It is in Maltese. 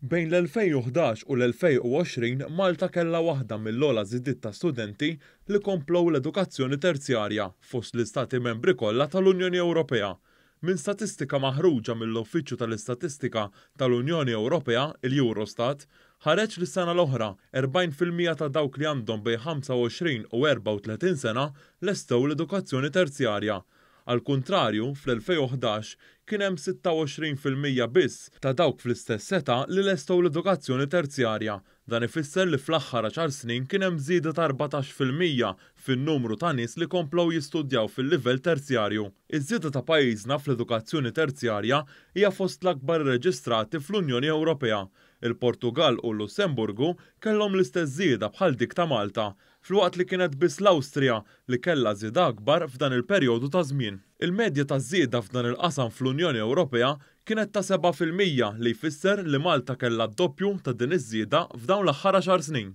Bejn l-2011 u l-2020 Malta kellha waħda mill-ogħla żidiet ta' studenti li komplew l-edukazzjoni terzjarja fost l-istati membri kollha tal-Unjoni Ewropea. Minn statistika maħruġa mill-Uffiċċju tal-Istatistika tal-Unjoni Ewropea, il-Eurostat, ħareġ li s-sena l-oħra 40% ta' dawk li għandhom bejn 25 u 34 sena lestew l-edukazzjoni terzjarja. Għall-kuntrarju, fl-2011 kien hemm 26% biss ta' dawk fl-istess età li lestew l-edukazzjoni terzjarja. Dan ifisser li fl-aħħar għaxar snin kien hemm żieda ta' 14% fin-numru ta' nies li komplew jistudjaw fil-livell terzjarju. Iż-żieda ta' pajjiżna fl-edukazzjoni terzjarja hija fost l-akbar irreġistrati fl-Unjoni Ewropea. Il-Portugall u l-Lussemburgu kellhom l-istess żieda bħal dik ta' Malta, filwaqt li kienet biss l-Awstrija li kellha żieda akbar f'dan il-perjodu ta' żmien. Il-medja taż-żieda f'dan il-qasam fl-Unjoni Ewropea kienet ta' 7% li jfisser li Malta kellha d-doppju ta' din iż-żieda f'dawn l-aħħar għaxar snin.